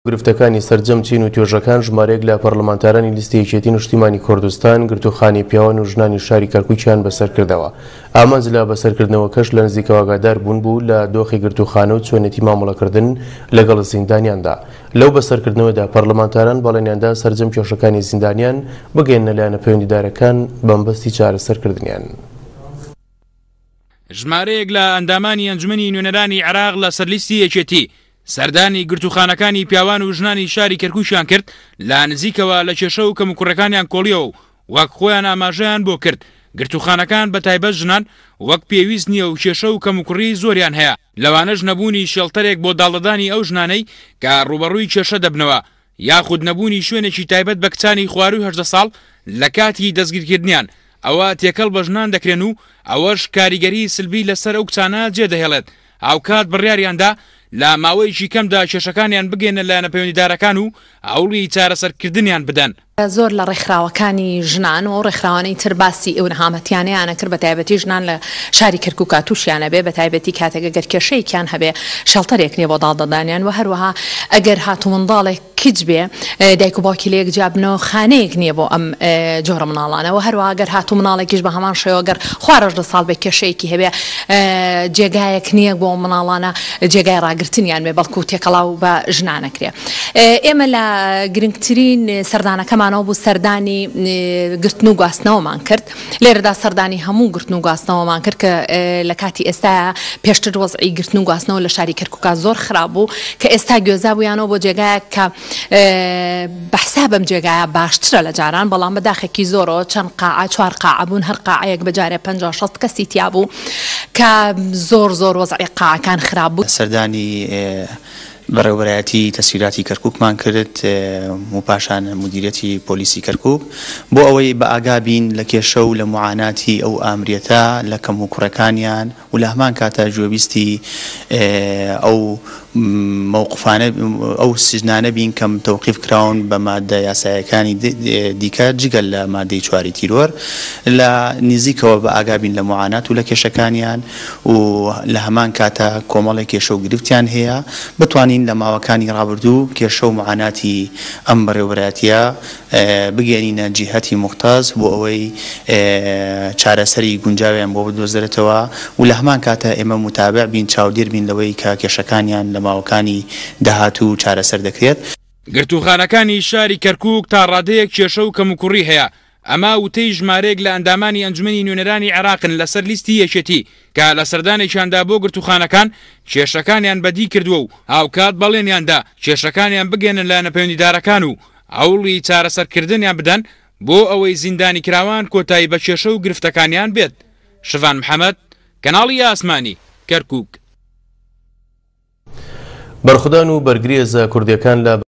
گرفتەکانی سەرجەم چین و توێژەکان ژمارەیەک لە پەرلەمانتارانی لیستی یەکێتی نیشتیمانی کوردستان گرتووخانەی پیاوان و ژنانی شاری کەرکوکیان بەسەرکردەوە. ئامانج لە بەسەرکردنەوەکەش لە نزیکەوە ئاگادار بوون بوو لە دۆخی گرتووخانە و چۆنێتی مامەڵەکردن لەگەڵ زیندانیاندا. لەو بەسەرکردنەوەدا پەرلەمانتاران بەڵێنیاندا سەرجەم کێشەکانی زیندانیان بگەیەننە لایەنە پەیوەندیدارەکان بەمەبەستی چارەسەرکردنیان. ژمارەیەک لە ئەندامانی ئەنجومەنی نوێنەرانی عێراق لەسەر لیستی یەکێتی سەردانی گرتووخانەکانی پیاوان و ژنانی شاری کەرکوکیان کرد، لە نزیکەوە لە کێشە و کەموکوڕیەکانیان کۆڵیەوە و وەک خۆیان ئاماژەیان بۆ کرد گرتووخانەکان بە تایبەت ژنان وەک پێویست نییە و کێشە و کەموکوڕی زۆریان هەیە، لەوانەش نەبوونی شێڵتەرێک بۆ داڵدەدانی ئەو ژنانەی کە ڕووبەڕووی کێشە دەبنەوە یاخود نەبوونی شوێنێکی تایبەت بە کچانی خوارووی 18 ساڵ لە کاتی دەستگیرکردنیان ئەوە تێکەڵ بە ژنان دەکرێن و ئەوەش کاریگەری سلبی لەسەر ئەو کچانە جێدەهێڵێت، هاوکات بڕیاریاندا لە ماوەیەکی کەمدا کێشەکانیان بگەیەنە لایەنە پەیوەندیدارەکان و هەوڵی چارەسەرکردنیان بدەن. زۆر لە ڕێکخراوەکانی ژنان و ئەو ڕێکخراوانەی تر باسی ئەو نەهامەتیانەیان ئەکرد بە تایبەتی ژنان لە شاری کەرکوکا توشیان ئەبێ بە تایبەتی کاتێک ئەگەر کێشەیەکیان هەبێ شێڵتەرێک نیە بۆ داڵدەدانیان وە هەروەها ئەگەر هاتوو منداڵێک کچ بێ دایک و باوکی لەیەک جیا بنەوە خانەیەک نیە بۆ ئەم جۆرە مناڵانە وە هەروەها گەر هاتوو مناڵێکیش بە هەمان شێوە گەر خوار 18 ساڵ بێ کێشەیەکی هەبێ جێگایەک نیە بۆ ئەو مناڵانە جێگای ڕاگرتنیان بێ بەڵکو تێکەڵاو بە ژنان ئەکرێ. ئێمە لە گرنگترین سەردانەکەمانەوە بوو سەردانی گرتن و گواستنەوەمان کرد لێرەدا سەردانی هەموو گرتن و گواستنەوەمان کرد کە لە کاتی ئێستا پێشتر وەزعی گرتن و گواستنەوە لە شاری کەرکووکا زۆر خراپ بوو کە ئێستا گوێزابوویانەوە بۆ جێگایەک کە بە حساب ئەم جێگایە باشترە لە جاران بەڵام بە داخێکی زۆرەوە چەند قاعە چوار قاعە بوون هەر قاعەیەک بە جارێ 50 60 کەسی تیا بوو کە زۆر زۆر وەزعی قاعەکان خراپ بوو. سەردانی بەڕێوەبەرایەتی تەسهیلاتی کەرکوکمان کرد و پاشان مودیریەتی پۆلیسی کەرکوک بۆ ئەوەی بە ئاگا بین لە کێشە و لە موعاناتی ئەو ئامریەتە لە کەم و کوڕەکانیان و لە هەمان کاتا گوێبیستی ئەو مەوقفانە ئەو سجنانە بین کە تەوقیف کراون بە مادە یاسایەکانی دیکە جگە لە مادەی چواری تیرۆر لە نزیکەوە بە ئاگا بین لە موعانات و لە کێشەکانیان و لە هەمان کاتا کۆمەڵێک کێشە و گرفتیان هەیە، بتوانین لە ماوەکانی ڕابردوو کێشە و موعاناتی ئەم بەڕێوەبەرایەتییە بگەیەنینە جیهەتی موختەس بۆ ئەوەی چارەسەری گونجاویان بۆ بدۆزرێتەوە و لە هەمان کاتا ئێمە موتابع بین، چاودێر بین لەوەی کە کێشەکانیان لە ماوەکانی داهاتوو چارەسەر دەکرێت. گرتووخانەکانی شاری کەرکووک تا ڕادەیەک کێشە و کەموکوڕی هەیە، ئەمە وتەی ژمارەیەک لە ئەندامانی ئەنجومەنی نوێنەرانی عێراقن لەسەر لیستی یەکێتی کە لە سەردانێکیاندا بۆ گرتووخانەکان کێشەکانیان بەدی کردووە و هاوکات بەڵێنیاندا کێشەکانیان بگەیەنە لایەنە پەیوەندیدارەکان و هەوڵی چارەسەرکردنیان بدەن بۆ ئەوەی زیندانیکراوان کۆتایی بە کێشە و گرفتەکانیان بێت. شڤان محەمەد، کەناڵی ئاسمانی، کەرکوک. بەرخودان و بەرگری هێزە کوردیەکان لە.